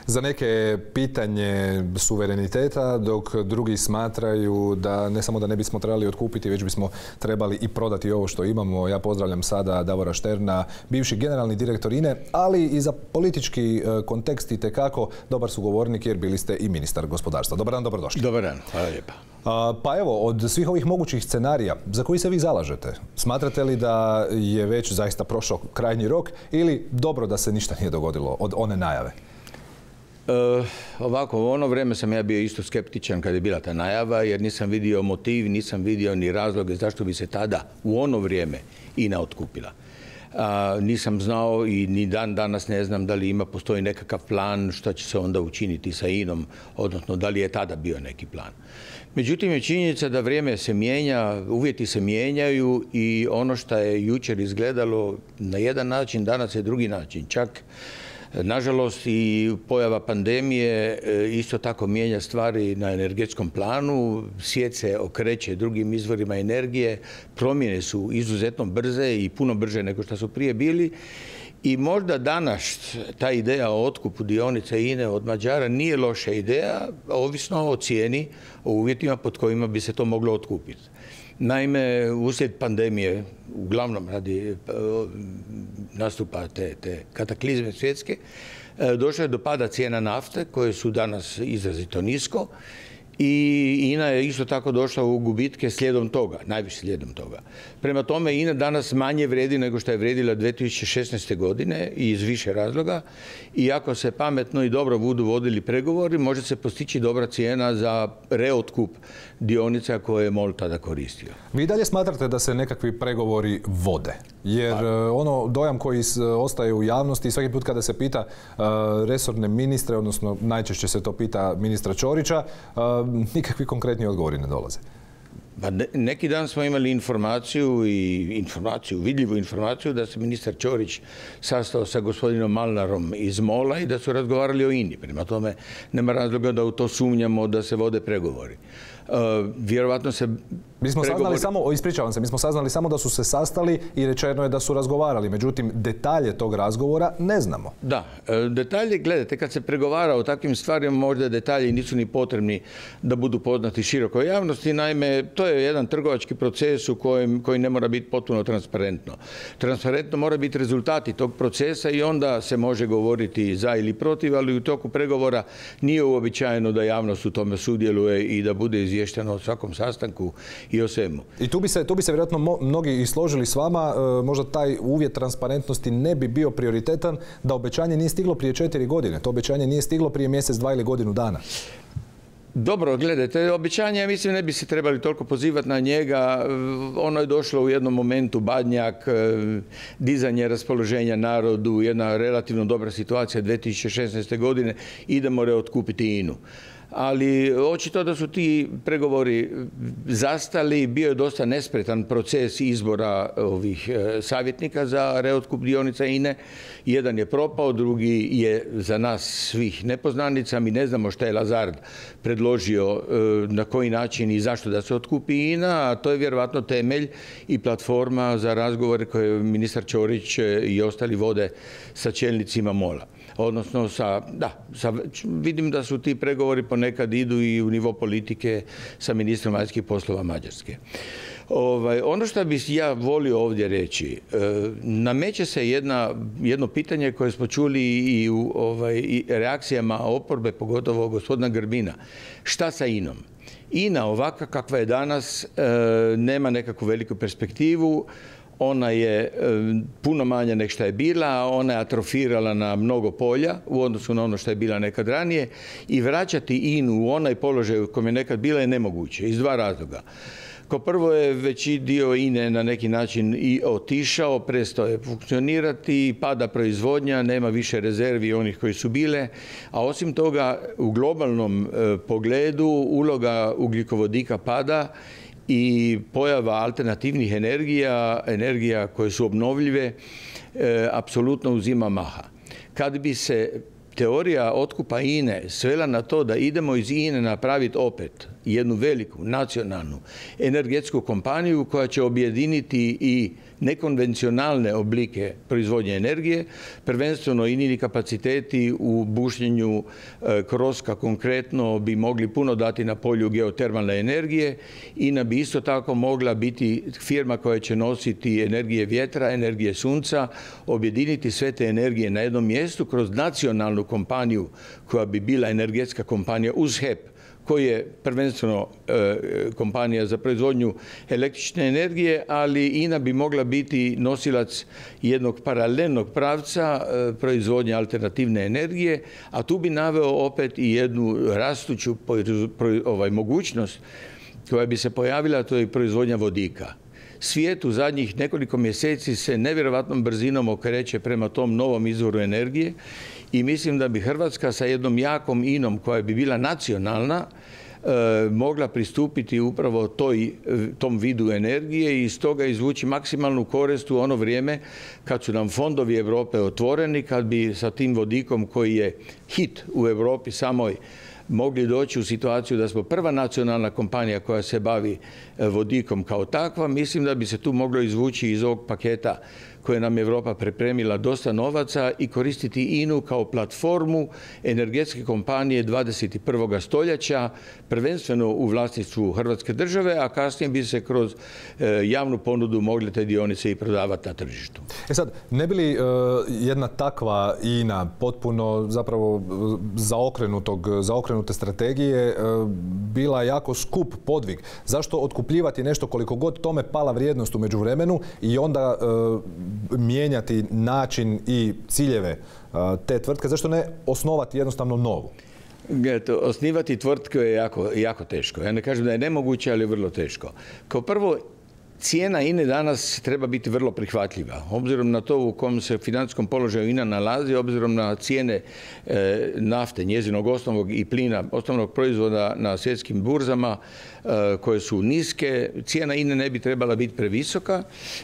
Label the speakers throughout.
Speaker 1: Za neke je pitanje suvereniteta, dok drugi smatraju da ne samo da ne bismo trebali otkupiti, već bismo trebali i prodati ovo što imamo. Ja pozdravljam sada Davora Šterna, bivši generalni direktor INA-e, ali i za politički kontekst itekako dobar sugovornik jer bili ste i ministar gospodarstva. Dobar dan, dobrodošli.
Speaker 2: Dobar dan, hvala lijepa.
Speaker 1: Pa evo, od svih ovih mogućih scenarija, za koji se vi zalažete? Smatrate li da je već zaista prošao krajnji rok ili dobro da se ništa nije dogodilo od one najave?
Speaker 2: Ovako, u ono vrijeme sam ja bio isto skeptičan kad je bila ta najava, jer nisam vidio motiv, nisam vidio ni razloge zašto bi se tada, u ono vrijeme, INA otkupila. Nisam znao i ni danas ne znam da li postoji nekakav plan što će se onda učiniti sa INA-om, odnosno da li je tada bio neki plan. Međutim, je činjenica da vrijeme se mijenja, uvjeti se mijenjaju i ono što je jučer izgledalo na jedan način, danas je drugi način. Čak, nažalost, i pojava pandemije isto tako mijenja stvari na energetskom planu. Svijet se okreće drugim izvorima energije, promjene su izuzetno brze i puno brže nego što su prije bili. I možda danas ta ideja o otkupu dionica INA-e od Mađara nije loša ideja, ovisno o cijeni, o uvjetima pod kojima bi se to moglo otkupiti. Naime, uslijed pandemije, uglavnom radi nastupa te kataklizme svjetske, došlo je do pada cijena nafte, koje su danas izrazito nisko, i INA je isto tako došla u gubitke slijedom toga, najviše slijedom toga. Prema tome, INA danas manje vredi nego što je vredila 2016. godine i iz više razloga. I ako se pametno i dobro budu vodili pregovori, može se postići dobra cijena za reotkup dionica koje je MOL tada koristio.
Speaker 1: Vi dalje smatrate da se nekakvi pregovori vode? Jer ono dojam koji ostaje u javnosti, svaki put kada se pita resorne ministre, odnosno najčešće se to pita ministra Ćorića, nikakvi konkretni odgovori ne dolaze.
Speaker 2: Neki dan smo imali vidljivu informaciju da se ministar Ćorić sastao sa gospodinom Malnarom iz MOL-a i da su razgovarali o INA-i. Prema tome, nema razloga da u to sumnjamo da se vode pregovori. Vjerovatno se
Speaker 1: mi smo saznali samo da su se sastali i rečeno je da su razgovarali. Međutim, detalje tog razgovora ne znamo.
Speaker 2: Da, detalje, gledajte, kad se pregovara o takvim stvarima, možda detalji nisu ni potrebni da budu poznati širokoj javnosti. Naime, to je jedan trgovački proces koji ne mora biti potpuno transparentno. Transparentno mora biti rezultati tog procesa i onda se može govoriti za ili protiv, ali u toku pregovora nije uobičajeno da javnost u tome sudjeluje i da bude izvješteno o svakom sastanku i o svemu.
Speaker 1: I tu bi se vjerojatno mnogi i složili s vama, možda taj uvjet transparentnosti ne bi bio prioritetan da obećanje nije stiglo prije 4 godine. To obećanje nije stiglo prije mjesec, 2 ili godinu dana.
Speaker 2: Dobro, gledajte, obećanje, mislim, ne bi se trebali toliko pozivati na njega. Ono je došlo u jednom momentu, Badnjak, dizanje raspoloženja narodu, jedna relativno dobra situacija 2016. godine, idemo reotkupiti INA-u. Ali očito da su ti pregovori zastali, bio je dosta nespretan proces izbora ovih savjetnika za reotkup dionica INA-e. Jedan je propao, drugi je za nas svih nepoznanica. Mi ne znamo šta je Lazard predložio, na koji način i zašto da se otkupi INA, a to je vjerovatno temelj i platforma za razgovore koje ministar Ćorić i ostali vode sa čelnicima MOL-a. Odnosno, vidim da su ti pregovori ponekad idu i u nivo politike sa ministrom vanjskih poslova Mađarske. Ono što bih ja volio ovdje reći, nameće se jedno pitanje koje smo čuli i u reakcijama oporbe, pogotovo gospodina Grbina. Šta sa INA-om? INA ovakva kakva je danas nema nekakvu veliku perspektivu. Ona je puno manja nego što je bila, ona je atrofirala na mnogo polja u odnosu na ono što je bila nekad ranije i vraćati INA-u u onaj položaj u kojem je nekad bila je nemoguće iz dva razloga. Kao prvo je veći dio INA-e na neki način i otišao, prestao je funkcionirati, pada proizvodnja, nema više rezervi onih koji su bile, a osim toga u globalnom pogledu uloga ugljikovodika pada i pojava alternativnih energija koje su obnovljive, apsolutno uzima maha. Kad bi se teorija otkupa INA-e svela na to da idemo iz INA-e napraviti opet jednu veliku nacionalnu energetsku kompaniju koja će objediniti i nekonvencionalne oblike proizvodnje energije, prvenstveno INA-ini kapaciteti u bušenju kroska konkretno bi mogli puno dati na polju geotermalne energije. INA bi isto tako mogla biti firma koja će nositi energije vjetra, energije sunca, objediniti sve te energije na jednom mjestu kroz nacionalnu kompaniju koja bi bila energetska kompanija uz HEP, koji je prvenstveno kompanija za proizvodnju električne energije, ali INA bi mogla biti nosilac jednog paralelnog pravca proizvodnje alternativne energije, a tu bi naveo opet i jednu rastuću mogućnost koja bi se pojavila, to je proizvodnja vodika. Svijet u zadnjih nekoliko mjeseci se nevjerojatnom brzinom okreće prema tom novom izvoru energije i mislim da bi Hrvatska sa jednom jakom INA-om koja bi bila nacionalna mogla pristupiti upravo tom vidu energije i iz toga izvući maksimalnu korist u ono vrijeme kad su nam fondovi Europe otvoreni, kad bi sa tim vodikom koji je hit u Europi samoj mogli doći u situaciju da smo prva nacionalna kompanija koja se bavi vodikom kao takva. Mislim da bi se tu moglo izvući iz ovog paketa koje nam je Europa pripremila dosta novaca i koristiti INA-u kao platformu energetske kompanije 21. stoljeća, prvenstveno u vlasništvu Hrvatske države, a kasnije bi se kroz javnu ponudu mogle te dionice i prodavati na tržištu.
Speaker 1: Sad, ne bi li jedna takva INA potpuno zapravo zaokrenute strategije bila jako skup podvig? Zašto otkupljivati nešto koliko god tome pala vrijednost u međuvremenu i onda mijenjati način i ciljeve te tvrtke? Zašto ne osnovati jednostavno novu?
Speaker 2: Osnivati tvrtke je jako teško. Ja ne kažem da je nemoguće, ali je vrlo teško. Kao prvo, cijena INA danas treba biti vrlo prihvatljiva. Obzirom na to u kom se financijskom položaju INA nalazi, obzirom na cijene nafte, njezinog osnovnog i plina, osnovnog proizvoda na svjetskim burzama koje su niske, cijena INA ne bi trebala biti previsoka.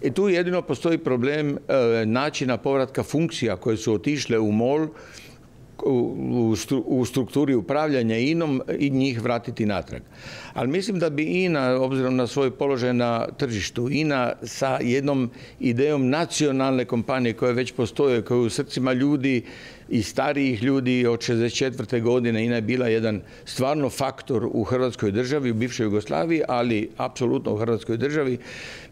Speaker 2: I tu jedino postoji problem načina povratka funkcija koje su otišle u MOL u strukturi upravljanja INA-om i njih vratiti natrag. Ali mislim da bi INA, obzirom na svoj položaj na tržištu, INA sa jednom idejom nacionalne kompanije koja već postoje, koja je u srcima ljudi i starijih ljudi od 64. godine, INA je bila jedan stvarno faktor u Hrvatskoj državi, u bivšoj Jugoslaviji, ali apsolutno u Hrvatskoj državi.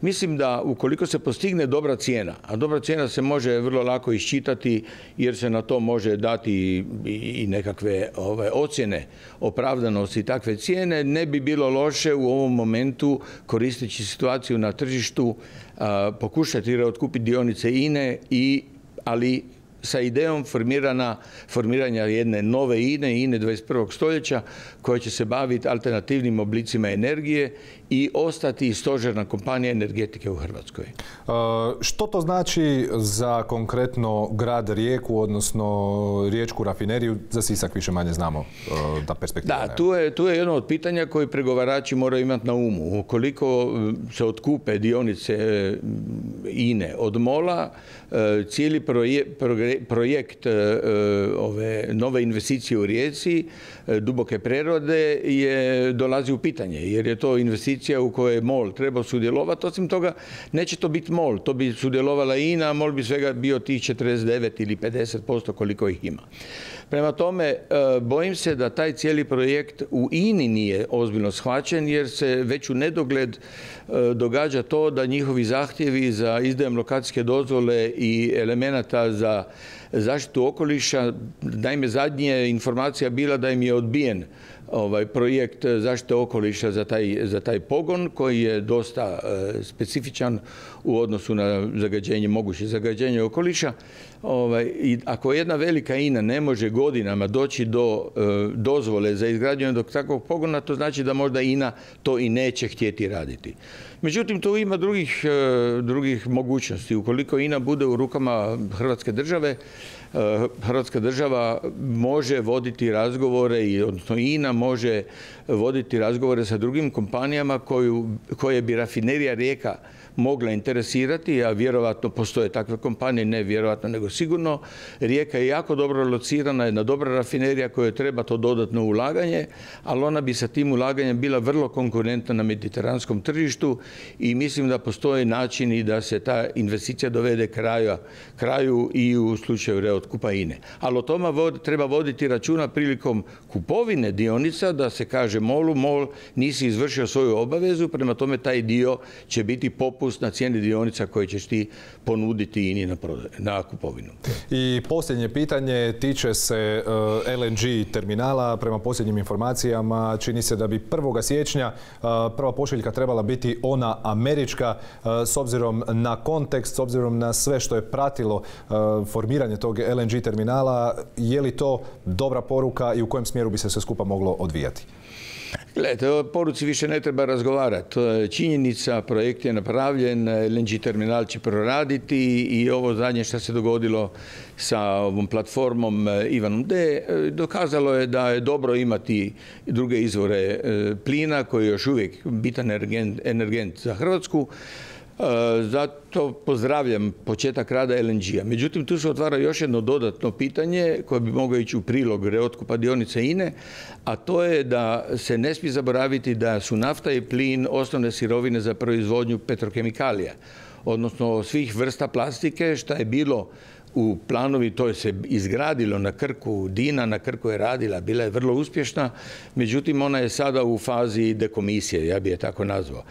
Speaker 2: Mislim da ukoliko se postigne dobra cijena, a dobra cijena se može vrlo lako iščitati jer se na to može dati i nekakve ocjene opravdanosti takve cijene, ne bi bilo loše u ovom momentu, koristeći situaciju na tržištu, pokušati otkupiti dionice INA-e, ali sa idejom formiranja jedne nove INA 21. stoljeća koja će se baviti alternativnim oblicima energije i ostati stožerna kompanija energetike u Hrvatskoj.
Speaker 1: Što to znači za konkretno grad Rijeku, odnosno riječku rafineriju? Za Sisak više manje znamo da perspektiva.
Speaker 2: Da, tu je jedno od pitanja koje pregovarači moraju imati na umu. Ukoliko se otkupe dionice INA od MOL-a, cijeli projekt ove nove investicije u Rijeci, duboke prerode, dolazi u pitanje, jer je to investicija u kojoj MOL treba sudjelovati. Osim toga, neće to biti MOL, to bi sudjelovala INA, a MOL bi svega bio tih 49 ili 50% koliko ih ima. Prema tome, bojim se da taj cijeli projekt u INA nije ozbiljno shvaćen, jer se već u nedogled događa to da njihovi zahtjevi za izdajem lokacijske dozvole i elemenata za zaštitu okoliša, naime zadnja informacija bila da im je odbijen projekt zaštite okoliša za taj pogon koji je dosta specifičan u odnosu na moguće zagađenje okoliša. I ako jedna velika INA ne može godinama doći do dozvole za izgradnju jednog takvog pogona, to znači da možda INA to i neće htjeti raditi. Međutim, tu ima drugih mogućnosti. Ukoliko INA bude u rukama Hrvatske države, Hrvatska država može voditi razgovore, odnosno INA može voditi razgovore sa drugim kompanijama koje bi rafinerija Rijeka mogla interesirati, a vjerovatno postoje takve kompanije, ne vjerovatno nego sigurno. Rijeka je jako dobro locirana, jedna dobra rafinerija kojoj treba to dodatno ulaganje, ali ona bi sa tim ulaganjem bila vrlo konkurentna na mediteranskom tržištu i mislim da postoje načini da se ta investicija dovede kraju i u slučaju reotkupa INE. Ali o tome treba voditi računa prilikom kupovine dionica, da se kaže MOL-u, MOL nisi izvršio svoju obavezu, prema tome taj dio će biti popust na cijeni dionica koje ćeš ti ponuditi INI na kupovinu.
Speaker 1: I posljednje pitanje tiče se LNG terminala. Prema posljednjim informacijama čini se da bi 1. siječnja prva pošiljka trebala biti ona američka. S obzirom na kontekst, s obzirom na sve što je pratilo formiranje tog LNG terminala, je li to dobra poruka i u kojem smjeru bi se sve skupa moglo odvijati?
Speaker 2: Gledajte, o poruci više ne treba razgovarati. To je činjenica, projekt je napravljen, LNG terminal će proraditi i ovo zadnje što se dogodilo sa ovom platformom Ivanom D dokazalo je da je dobro imati druge izvore plina koji je još uvijek bitan energent za Hrvatsku. Zato pozdravljam početak rada LNG-a. Međutim, tu se otvara još jedno dodatno pitanje koje bi moglo ići u prilog reotkupa dionice INE, a to je da se ne smije zaboraviti da su nafta i plin osnovne sirovine za proizvodnju petrokemikalija, odnosno svih vrsta plastike, što je bilo u planovi, to je se izgradilo na Krku, Dina na Krku je radila, bila je vrlo uspješna, međutim ona je sada u fazi dekomisije, ja bi je tako nazvao.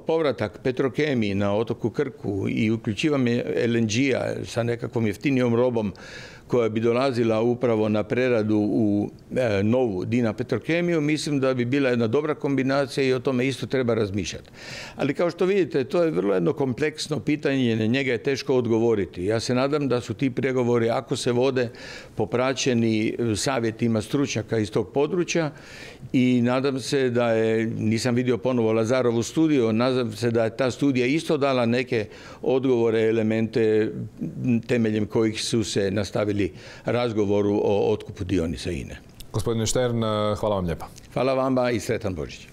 Speaker 2: Povratak Petrokemiji na otoku Krku i uključivanje LNG-a sa nekakvom jeftinijom robom koja bi dolazila upravo na preradu u novu Dina Petrokemiju, mislim da bi bila jedna dobra kombinacija i o tome isto treba razmišljati. Ali kao što vidite, to je vrlo jedno kompleksno pitanje, na njega je teško odgovoriti. Ja se nadam da su ti pregovori, ako se vode, popraćeni savjetima stručnjaka iz tog područja i nadam se da je, nisam vidio ponovo Lazarovu studiju, nadam se da je ta studija isto dala neke odgovore, elemente temeljem kojih su se nastavili razgovoru o otkupu dionica INE.
Speaker 1: Gospodine Štern, hvala vam lijepa.
Speaker 2: Hvala vama i sretan Božić.